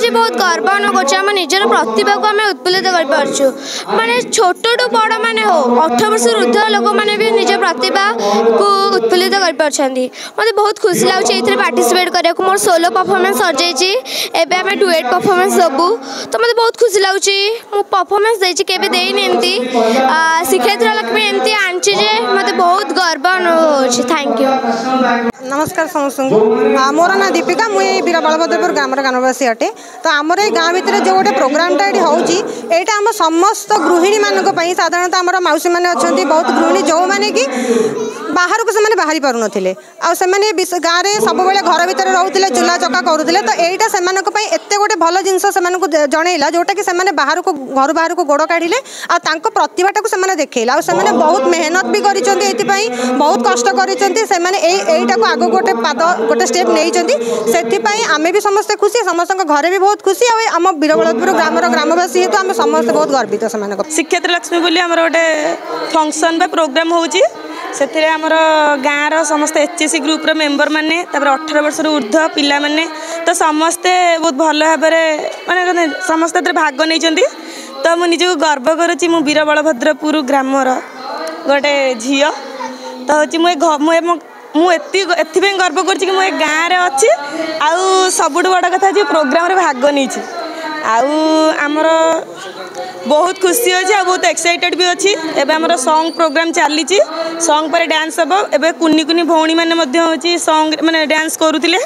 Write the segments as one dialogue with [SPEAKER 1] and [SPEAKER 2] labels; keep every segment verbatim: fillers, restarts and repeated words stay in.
[SPEAKER 1] ଲାଗୁଛି, ବହୁତ ଗର୍ବ ଅନୁଭବ କରୁଛୁ। ଆମ ନିଜର ପ୍ରତିଭାକୁ ଆମେ ଉତ୍ଫୁଲ୍ଲିତ କରିପାରୁଛୁ। ମାନେ ଛୋଟଠୁ ବଡ଼ ମାନେ ହଉ, ଅଠର ବର୍ଷରୁ ଉର୍ଦ୍ଧ୍ୱ ଲୋକମାନେ ବି ନିଜ ପ୍ରତିଭାକୁ ଉତ୍ଫୁଲ୍ଲିତ କରିପାରୁଛନ୍ତି। ମୋତେ ବହୁତ ଖୁସି ଲାଗୁଛି ଏଇଥିରେ ପାର୍ଟିସିପେଟ୍ କରିବାକୁ। ମୋର ସୋଲୋ ପରଫର୍ମାନ୍ସ ସରିଯାଇଛି, ଏବେ ଆମେ ଡୁଏଟ୍ ପରଫର୍ମାନ୍ସ ଦେବୁ। ତ ମୋତେ ବହୁତ ଖୁସି ଲାଗୁଛି। ମୁଁ ପରଫର୍ମାନ୍ସ ଦେଇଛି, କେବେ ଦେଇନି ଏମିତି। ଶ୍ରୀକ୍ଷେତ୍ର ଲକ୍ଷ୍ମୀ ଏମିତି ଆଣିଛି ଯେ ମୋତେ ବହୁତ ଗର୍ବ ଅନୁଭବ ହେଉଛି। Thank you.
[SPEAKER 2] ନମସ୍କାର ସମସ୍ତଙ୍କୁ। ମୋର ନାଁ ଦୀପିକା। ମୁଁ ଏଇ ବୀର ବଳଭଦ୍ରପୁର ଗ୍ରାମର ଗ୍ରାମବାସୀ ଅଟେ। ତ ଆମର ଏଇ ଗାଁ ଭିତରେ ଯେଉଁ ଗୋଟେ ପ୍ରୋଗ୍ରାମଟା ଏଠି ହେଉଛି, ଏଇଟା ଆମ ସମସ୍ତ ଗୃହିଣୀମାନଙ୍କ ପାଇଁ। ସାଧାରଣତଃ ଆମର ମାଉସୀମାନେ ଅଛନ୍ତି, ବହୁତ ଗୃହିଣୀ ଯେଉଁମାନେ କି ବାହାରକୁ ସେମାନେ ବାହାରି ପାରୁନଥିଲେ, ଆଉ ସେମାନେ ଗାଁରେ ସବୁବେଳେ ଘର ଭିତରେ ରହୁଥିଲେ, ଚୁଲା ଚକା କରୁଥିଲେ। ତ ଏଇଟା ସେମାନଙ୍କ ପାଇଁ ଏତେ ଗୋଟେ ଭଲ ଜିନିଷ ସେମାନଙ୍କୁ ଜଣେଇଲା, ଯେଉଁଟାକି ସେମାନେ ବାହାରକୁ, ଘରୁ ବାହାରକୁ ଗୋଡ଼ କାଢ଼ିଲେ ଆଉ ତାଙ୍କ ପ୍ରତିଭାଟାକୁ ସେମାନେ ଦେଖେଇଲେ। ଆଉ ସେମାନେ ବହୁତ ମେହନତ ବି କରିଛନ୍ତି, ଏଇଥିପାଇଁ ବହୁତ କଷ୍ଟ କରିଛନ୍ତି। ସେମାନେ ଏଇ ଏଇଟାକୁ ଆଗକୁ ଗୋଟେ ପାଦ, ଗୋଟେ ଷ୍ଟେପ୍ ନେଇଛନ୍ତି। ସେଥିପାଇଁ ଆମେ ବି ସମସ୍ତେ ଖୁସି, ସମସ୍ତଙ୍କ ଘରେ ବି ବହୁତ ଖୁସି। ଆଉ ଆମ ବୀରବଳଭଦ୍ରପୁର ଗ୍ରାମର ଗ୍ରାମବାସୀ ହେତୁ ଆମେ ସମସ୍ତେ ବହୁତ ଗର୍ବିତ ସେମାନଙ୍କ।
[SPEAKER 3] ଶ୍ରୀକ୍ଷେତ୍ର ଲକ୍ଷ୍ମୀ ବୋଲି ଆମର ଗୋଟେ ଫଙ୍କସନ୍ ବା ପ୍ରୋଗ୍ରାମ୍ ହେଉଛି। ସେଥିରେ ଆମର ଗାଁର ସମସ୍ତେ ଏଚ୍ ଏସ୍ ସି ଗ୍ରୁପ୍ର ମେମ୍ବରମାନେ, ତାପରେ ଅଠର ବର୍ଷରୁ ଉର୍ଦ୍ଧ୍ୱ ପିଲାମାନେ, ତ ସମସ୍ତେ ବହୁତ ଭଲ ଭାବରେ, ମାନେ ସମସ୍ତେ ଏଥିରେ ଭାଗ ନେଇଛନ୍ତି। ତ ମୁଁ ନିଜକୁ ଗର୍ବ କରୁଛି, ମୁଁ ବୀର ବଳଭଦ୍ରପୁର ଗ୍ରାମର ଗୋଟେ ଝିଅ। ତ ହେଉଛି ମୁଁ ଏ ମୁଁ ମୁଁ ଏତିକି ଏଥିପାଇଁ ଗର୍ବ କରୁଛି କି ମୁଁ ଏ ଗାଁରେ ଅଛି, ଆଉ ସବୁଠୁ ବଡ଼ କଥା ଯେ ପ୍ରୋଗ୍ରାମରେ ଭାଗ ନେଇଛି। ଆଉ ଆମର ବହୁତ ଖୁସି ଅଛି ଆଉ ବହୁତ ଏକ୍ସାଇଟେଡ଼ ବି ଅଛି। ଏବେ ଆମର ସଙ୍ଗ୍ ପ୍ରୋଗ୍ରାମ୍ ଚାଲିଛି, ସଙ୍ଗ୍ ପରେ ଡ୍ୟାନ୍ସ ହେବ। ଏବେ କୁନି କୁନି ଭଉଣୀମାନେ ମଧ୍ୟ ହେଉଛି ସଙ୍ଗ୍ ମାନେ ଡ୍ୟାନ୍ସ କରୁଥିଲେ।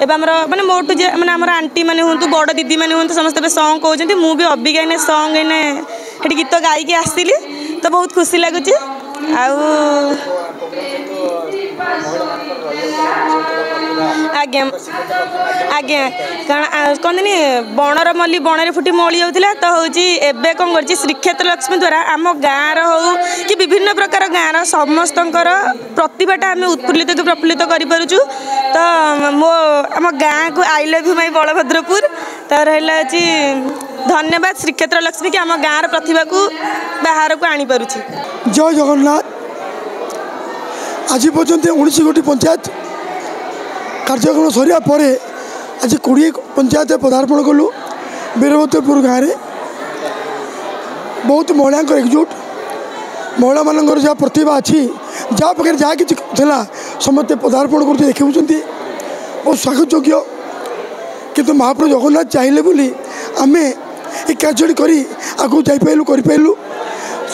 [SPEAKER 3] ଏବେ ଆମର ମାନେ ମୋଠୁ ଯେ ମାନେ ଆମର ଆଣ୍ଟି ମାନେ ହୁଅନ୍ତୁ, ବଡ଼ ଦିଦି ମାନେ ହୁଅନ୍ତୁ, ସମସ୍ତେ ଏବେ ସଙ୍ଗ୍ କହୁଛନ୍ତି। ମୁଁ ବି ଅବିକା ଏଇନେ ସଙ୍ଗ୍ ଏଇନେ ସେଠି ଗୀତ ଗାଇକି ଆସିଲି, ତ ବହୁତ ଖୁସି ଲାଗୁଛି। ଆଉ ଆଜ୍ଞା ଆଜ୍ଞା, କାରଣ କହନ୍ତିନି ବଣର ମଲ୍ଲି ବଣରେ ଫୁଟି ମଉଳି ଯାଉଥିଲା। ତ ହେଉଛି ଏବେ କ'ଣ କରିଛି ଶ୍ରୀକ୍ଷେତ୍ର ଲକ୍ଷ୍ମୀ ଦ୍ୱାରା ଆମ ଗାଁର ହଉ କି ବିଭିନ୍ନ ପ୍ରକାର ଗାଁର ସମସ୍ତଙ୍କର ପ୍ରତିଭାଟା ଆମେ ଉତ୍ଫୁଲ୍ଲିତ କି ପ୍ରଫୁଲ୍ଲିତ କରିପାରୁଛୁ। ତ ମୋ ଆମ ଗାଁକୁ I love you my Balabhadrapur. ତ ରହିଲା ଅଛି ଧନ୍ୟବାଦ ଶ୍ରୀକ୍ଷେତ୍ର ଲକ୍ଷ୍ମୀ କି ଆମ ଗାଁର ପ୍ରତିଭାକୁ ବାହାରକୁ ଆଣିପାରୁଛି।
[SPEAKER 4] ଜୟ ଜଗନ୍ନାଥ। ଆଜି ପର୍ଯ୍ୟନ୍ତ ଉଣେଇଶ ଗୋଟି ପଞ୍ଚାୟତ କାର୍ଯ୍ୟକ୍ରମ ସରିବା ପରେ ଆଜି କୋଡ଼ିଏ ପଞ୍ଚାୟତରେ ପଦାର୍ପଣ କଲୁ। ବୀରଭଦ୍ରପୁର ଗାଁରେ ବହୁତ ମହିଳାଙ୍କର ଏକଜୁଟ, ମହିଳାମାନଙ୍କର ଯାହା ପ୍ରତିଭା ଅଛି, ଯାହା ପାଖରେ ଯାହା କିଛି ଥିଲା, ସମସ୍ତେ ପଦାର୍ପଣ କରୁଛି, ଦେଖାଉଛନ୍ତି ଓ ସ୍ୱାଗତ ଯୋଗ୍ୟ। କିନ୍ତୁ ମହାପ୍ରଭୁ ଜଗନ୍ନାଥ ଚାହିଁଲେ ବୋଲି ଆମେ ଏ କାର୍ଯ୍ୟଟି କରି ଆଗକୁ ଯାଇପାରିଲୁ, କରିପାରିଲୁ।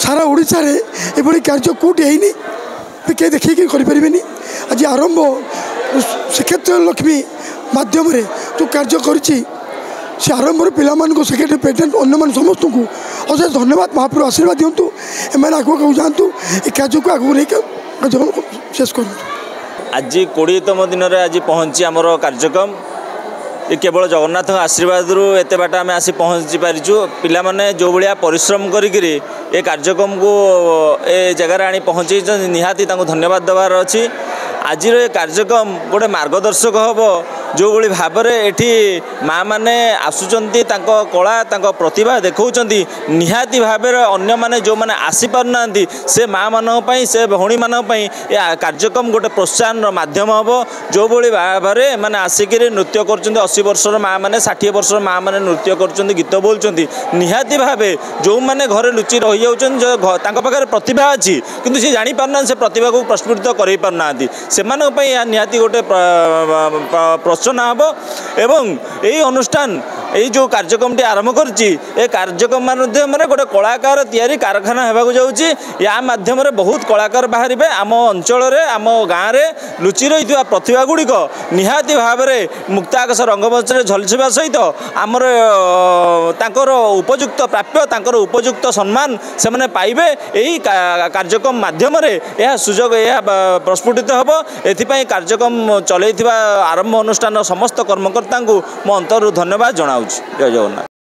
[SPEAKER 4] ସାରା ଓଡ଼ିଶାରେ ଏଭଳି କାର୍ଯ୍ୟ କେଉଁଠି ହେଇନି, କେହି ଦେଖିକି କରିପାରିବେନି। ଆଜି ଆରମ୍ଭ ଶ୍ରୀକ୍ଷେତ୍ର ଲକ୍ଷ୍ମୀ ମାଧ୍ୟମରେ ଯେଉଁ କାର୍ଯ୍ୟ କରିଛି, ସେ ଆରମ୍ଭରୁ ପିଲାମାନଙ୍କୁ, ସେକ୍ରେଟାରୀ, ପ୍ରେସିଡେଣ୍ଟ, ଅନ୍ୟମାନେ ସମସ୍ତଙ୍କୁ ଅଶେଷ ଧନ୍ୟବାଦ। ମହାପ୍ରଭୁ ଆଶୀର୍ବାଦ ଦିଅନ୍ତୁ, ଏମାନେ ଆଗକୁ ଆଗକୁ ଯାଆନ୍ତୁ, ଏ କାର୍ଯ୍ୟକୁ ଆଗକୁ ନେଇକି କାର୍ଯ୍ୟକ୍ରମ ଶେଷ କରନ୍ତୁ।
[SPEAKER 5] ଆଜି କୋଡ଼ିଏତମ ଦିନରେ ଆଜି ପହଞ୍ଚି ଆମର କାର୍ଯ୍ୟକ୍ରମ। ଏ କେବଳ ଜଗନ୍ନାଥଙ୍କ ଆଶୀର୍ବାଦରୁ ଏତେ ବାଟ ଆମେ ଆସି ପହଞ୍ଚି ପାରିଛୁ। ପିଲାମାନେ ଯେଉଁଭଳିଆ ପରିଶ୍ରମ କରିକିରି ଏ କାର୍ଯ୍ୟକ୍ରମକୁ ଏ ଜାଗାରେ ଆଣି ପହଞ୍ଚେଇଛନ୍ତି, ନିହାତି ତାଙ୍କୁ ଧନ୍ୟବାଦ ଦେବାର ଅଛି। ଆଜିର ଏ କାର୍ଯ୍ୟକ୍ରମ ଗୋଟେ ମାର୍ଗଦର୍ଶକ ହେବ। ଯେଉଁଭଳି ଭାବରେ ଏଠି ମାଆମାନେ ଆସୁଛନ୍ତି, ତାଙ୍କ କଳା, ତାଙ୍କ ପ୍ରତିଭା ଦେଖାଉଛନ୍ତି, ନିହାତି ଭାବରେ ଅନ୍ୟମାନେ ଯେଉଁମାନେ ଆସିପାରୁନାହାନ୍ତି, ସେ ମାଆମାନଙ୍କ ପାଇଁ, ସେ ଭଉଣୀମାନଙ୍କ ପାଇଁ ଏ କାର୍ଯ୍ୟକ୍ରମ ଗୋଟେ ପ୍ରୋତ୍ସାହନର ମାଧ୍ୟମ ହେବ। ଯେଉଁଭଳି ଭାବରେ ଏମାନେ ଆସିକିରି ନୃତ୍ୟ କରୁଛନ୍ତି, ଅଶୀ ବର୍ଷର ମାଆମାନେ, ଷାଠିଏ ବର୍ଷର ମାଆମାନେ ନୃତ୍ୟ କରୁଛନ୍ତି, ଗୀତ ବୋଲୁଛନ୍ତି, ନିହାତି ଭାବେ ଯେଉଁମାନେ ଘରେ ଲୁଚି ରହିଯାଉଛନ୍ତି, ତାଙ୍କ ପାଖରେ ପ୍ରତିଭା ଅଛି କିନ୍ତୁ ସେ ଜାଣିପାରୁନାହାନ୍ତି, ସେ ପ୍ରତିଭାକୁ ପ୍ରସ୍ଫୁଟିତ କରାଇ ପାରୁନାହାନ୍ତି, ସେମାନଙ୍କ ପାଇଁ ଏହା ନିହାତି ଗୋଟେ ପ୍ରୋତ୍ସାହନ ହେବ। ଏବଂ ଏଇ ଅନୁଷ୍ଠାନ ଏଇ ଯେଉଁ କାର୍ଯ୍ୟକ୍ରମଟି ଆରମ୍ଭ କରିଛି, ଏ କାର୍ଯ୍ୟକ୍ରମ ମାଧ୍ୟମରେ ଗୋଟେ କଳାକାର ତିଆରି କାରଖାନା ହେବାକୁ ଯାଉଛି। ୟା ମାଧ୍ୟମରେ ବହୁତ କଳାକାର ବାହାରିବେ। ଆମ ଅଞ୍ଚଳରେ, ଆମ ଗାଁରେ ଲୁଚି ରହିଥିବା ପ୍ରତିଭା ଗୁଡ଼ିକ ନିହାତି ଭାବରେ ମୁକ୍ତାକାଶ ରଙ୍ଗମଞ୍ଚରେ ଝଲସିବା ସହିତ ଆମର ତାଙ୍କର ଉପଯୁକ୍ତ ପ୍ରାପ୍ୟ, ତାଙ୍କର ଉପଯୁକ୍ତ ସମ୍ମାନ ସେମାନେ ପାଇବେ। ଏହି କାର୍ଯ୍ୟକ୍ରମ ମାଧ୍ୟମରେ ଏହା ସୁଯୋଗ, ଏହା ପ୍ରସ୍ଫୁଟିତ ହେବ। ଏଥିପାଇଁ କାର୍ଯ୍ୟକ୍ରମ ଚଲେଇଥିବା ଆରମ୍ଭ ଅନୁଷ୍ଠାନର ସମସ୍ତ କର୍ମକର୍ତ୍ତାଙ୍କୁ ମୋ ଅନ୍ତରରୁ ଧନ୍ୟବାଦ ଜଣାଉଛି। ଜୟ ଜଗନ୍ନାଥ।